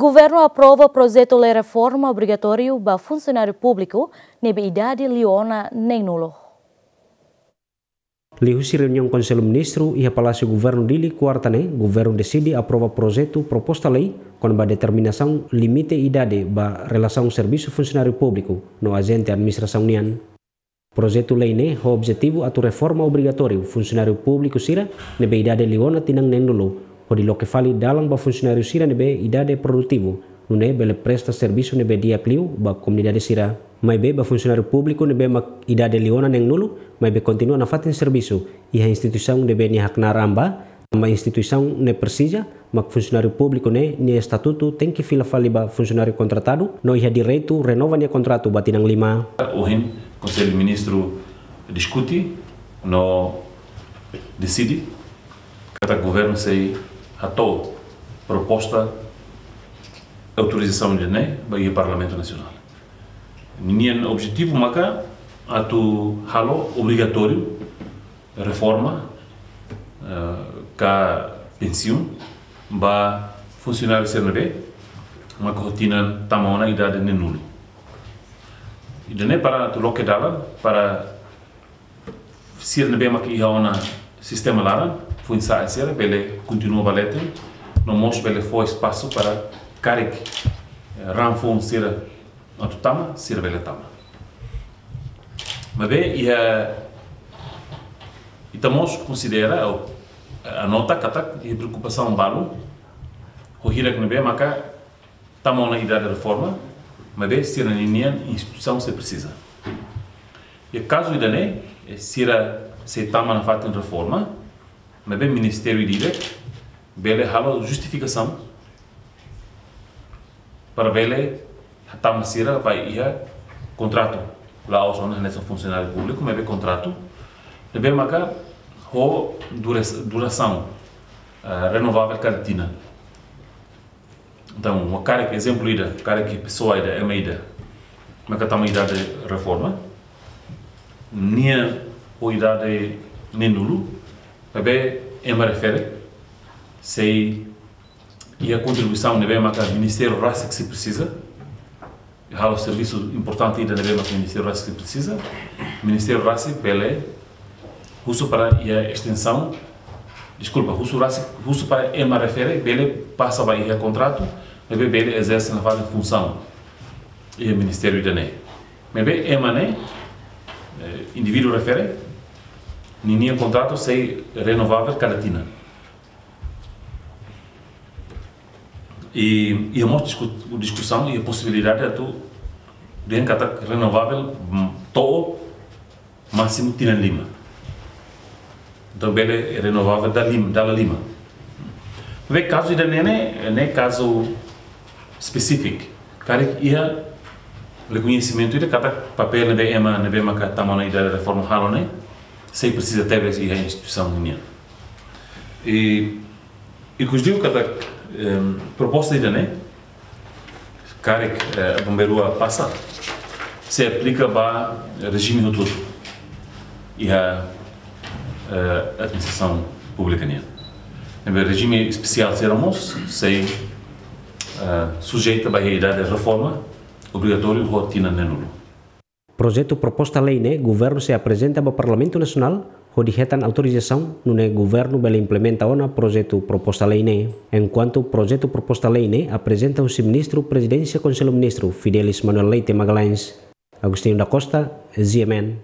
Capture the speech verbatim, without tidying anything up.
Governu aprova projetu lei reforma obrigatóriu ba funsionáriu públiku ne'ebé idade liu ona neen-nulu. Liuhusi reuniaun Konsellu Ministru iha Palásiu Governu Dili, kuarta ne'e, governu deside aprova projetu proposta lei kona-ba determinasaun limite idade ba relasaun servisu funsionáriu públiku no ajente administrasaun nian. Projetu lei ne'e ho objetivu atu reforma obrigatóriu funsionáriu públiku sira ne'ebé idade liu ona tinan neen-nulu, hodi loke fali dalan ba funsionáriu sira ne'ebé idade produtivu, nune'e bele presta servisu ne'ebé di'ak liu ba komunidade sira. Maibé ba funsionáriu públiku ne'ebé mak idade liu ona neen-nulu, maibé kontinua nafatin servisu iha instituisaun ne'ebé nia haknaar an ba, tanba instituisaun ne'e presiza, mak funsionáriu públiku ne'e nia estatutu tenke fila fali ba funsionáriu kontratadu, no iha direitu renova nia kontratu ba tinan lima. Ohin, Konsellu Ministru diskute no deside katak governu sei hato'o proposta autorizasaun ida-ne'e ba iha Parlamentu Nasionál. Ninia objetivu maka atu halo obrigatóriu reforma, eh, ka pensiun ba funsionáriu sira ne'ebé maka ho tinan tama ona idade neen-nulu. Ida-ne'e para atu loke dalan para sira ne'ebé maka iha ona sistema laran, foin-sa'e sira bele kontinua ba leten, no mós bele fó espasu para karik, eh, raan foun sira atu tama, sira bele tama. Maibé iha, ita mós konsidera ou, eh, anota katak iha preokupasaun balu ho hirak ne'ebé maka tama ona idade reforma, maibé sira ninian instituisaun sei presiza. Iha kazu ida-ne'e, eh, sira sei tama nafatin reforma, maibé ministériu ida-idak bele halo justifikasaun para bele hatama sira ba iha kontratu. La'ós ona hanesan funsionáriu públiku, maibé kontratu ne'ebé maka ho dura-, durasaun, eh, renovável kada tinan. Entaun, uma karik ezemplu ida, karik pesoa ida, ema ida maka tama idade reforma, nia ho idade neen-nulu, maibé ema refere sei iha kontribuisaun ne'ebé maka ministériu rasik sei presiza, halo servisu importante ida ne'ebé maka ministériu rasik sei presiza, ministériu rasik bele husu para iha estensaun, deskulpa, husu rasik, husu para ema refere bele pasa ba iha kontratu, ne'ebé bele ezerse nafatin funsaun iha ministériu ida-ne'e. Maibé ema ne'e, eh, indivíduu refere, ninia kontratu sei renovável kada tinan. I, iha mós disku-, diskusaun iha posibilidade atu dehan katak renovável, mm, to'o másimu tinan lima. Entaun bele renovável dala lim-, dala lima. Maibé kazu ida-ne'e ne'e, ne'e kazu espesífiku. Karik iha rekoñesimentu ida katak papél ne'ebé ema ne'ebé maka tama ona idade reforma halo ne'e sei presiza tebes iha instituisaun nian. I, ikus liu katak, em, proposta ida-ne'e, karik, eh, Bombeirua pasa, sei aplika ba rejime hotu-hotu iha, eh, administrasaun públika nian. Ne'ebé rejime espesiál sira mós sei, eh, sujeita ba iha idade reforma obrigatóriu ho tinan neenulu. Projetu proposta lei ne'e governu sei aprezenta ba Parlamentu Nasionál hodi hetan autorizasaun, nune'e governu bele implementa ona projetu proposta lei ne'e. Enkuantu projetu proposta lei ne'e aprezenta husi Ministru Prezidénsia Konsellu Ministru Fidelis Manuel Leite Magalhães. Agostinho da Costa, G M N.